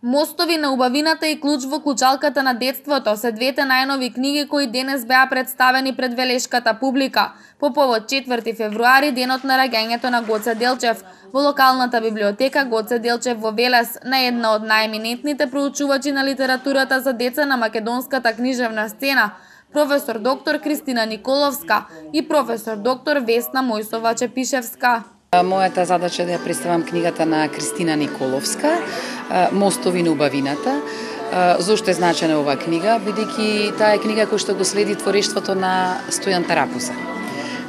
Мостови на убавината и Клуч во клучалката на детството се двете најнови книги кои денес беа представени пред велешката публика по повод 4 февруари, денот на раѓањето на Гоце Делчев, во локалната библиотека Гоце Делчев во Велес, на една од најеминентните проучувачи на литературата за деца на македонската книжевна сцена, професор доктор Кристина Николовска и професор доктор Весна Мојсова-Чепишевска. Мојата задача е да ја представам книгата на Кристина Николовска, Мостови на убавината. Зошто е значена оваа книга? Бидејќи таа е книга која што го следи творештвото на Стојан Тарапуза.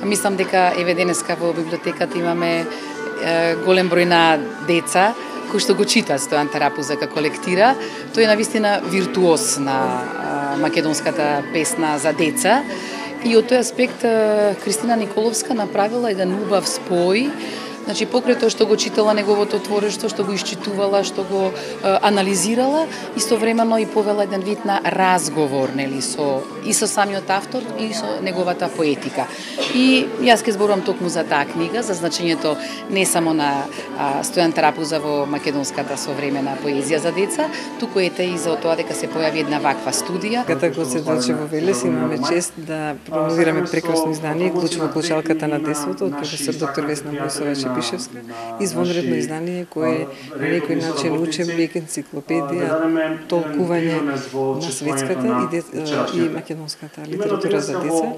Мислам дека еве денеска во библиотеката имаме голем број на деца кои што го читаат Стојан Тарапуза како лектира. Тој е навистина виртуоз на македонската песна за деца. И од тој аспект Кристина Николовска направила еден убав спој, значи покрај тоа што го читала неговото творештво, што го исчитувала, што го анализирала, истовремено и повела еден вид на разговор, нели, со самиот автор и со неговата поетика. И јас ќе зборувам токму за таа книга, за значењето не само на Стојан Тарапуза во македонската современа поезија за деца, туку ете и за тоа дека се појави една ваква студија. Ката Гоце Делчев во Велес имаме чест да промовираме прекрасно издание Клуч во клучалката на детството од професор доктор Весна Мојсова-Чепишевска. Извонредно издание кое на некој начин учебник, енциклопедија, толкување на светската и македонската литература за деца.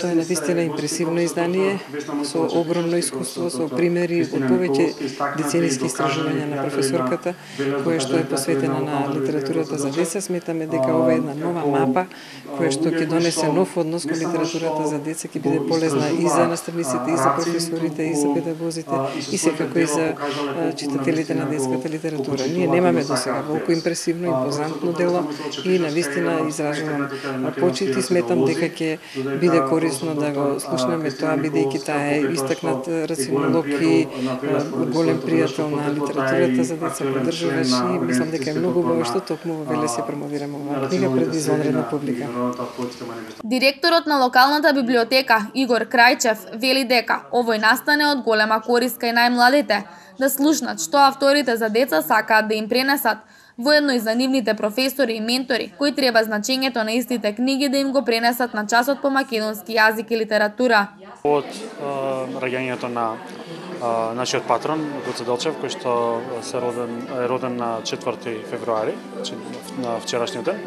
Тоа е навистина импресивно издание со огромно искуство, со примери од повеќе децениски истражувања на професорката, која што е посветена на литературата за деца. Сметаме дека ова е една нова мапа која што ќе донесе нов однос кон литературата за деца, ќе биде полезна и за наставниците, и за професорите, и за педагозите, и секако и за читателите на детската литература. Ние немаме досега волку импресивно, импозантно дело и навистина изражувам почит и сметам дека ќе биде корисно да го слушнеме тоа, бидејќи таа е истакнат рацинолог и голем пријател на литературата за деца, поддржуваш, и мислам дека е многу убаво што токму во Велес ја промовираме оваа книга пред извонредна публика. Директорот на локалната библиотека Игор Крајчев вели дека овој настане од голема корист кај најмладите, да слушнат што авторите за деца сакаат да им пренесат, воедно и за нивните професори и ментори, кои треба значењето на истите книги да им го пренесат на часот по македонски јазик и литература. Од раѓањето на нашиот патрон Гоце Делчев, кој што е роден на 4 февруари, на вчерашниот ден,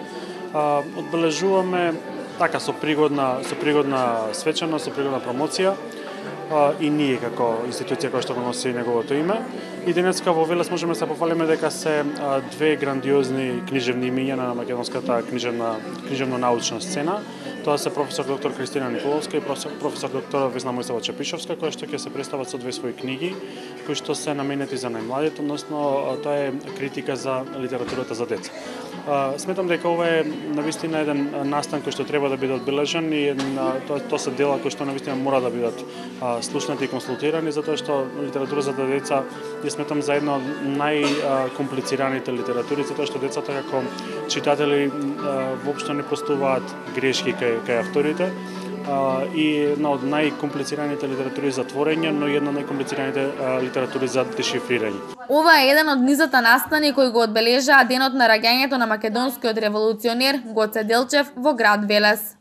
одбележуваме така со пригодна свечаност, со пригодна промоција, и ние како институција која што го носи неговото име. И денеска во Велес можеме да се пофалиме дека се две грандиозни книжевни имиња на македонската книжевно-научна сцена. Тоа се професор доктор Кристина Николовска и професор доктор Весна Мојсова-Чепишевска, кои што ќе се представат со две своји книги, кои што се наменети за најмладите, односно тоа е критика за литературата за деца. Сметам дека ова е навистина еден настан кој што треба да биде одбележан и тоа се дела кои што навистина мора да бидат слушнати и консултирани, затоа што литература за деца ја сметам за една од најкомплицираните литератури, затоа што децата како читатели воопшто не простуваат грешки кај авторите, и една од најкомплицираните литератури за творење, но и една од најкомплицираните литератури за дешифрирање. Ова е еден од низата настани кои го одбележаа денот на раѓањето на македонскиот револуционер Гоце Делчев во град Велес.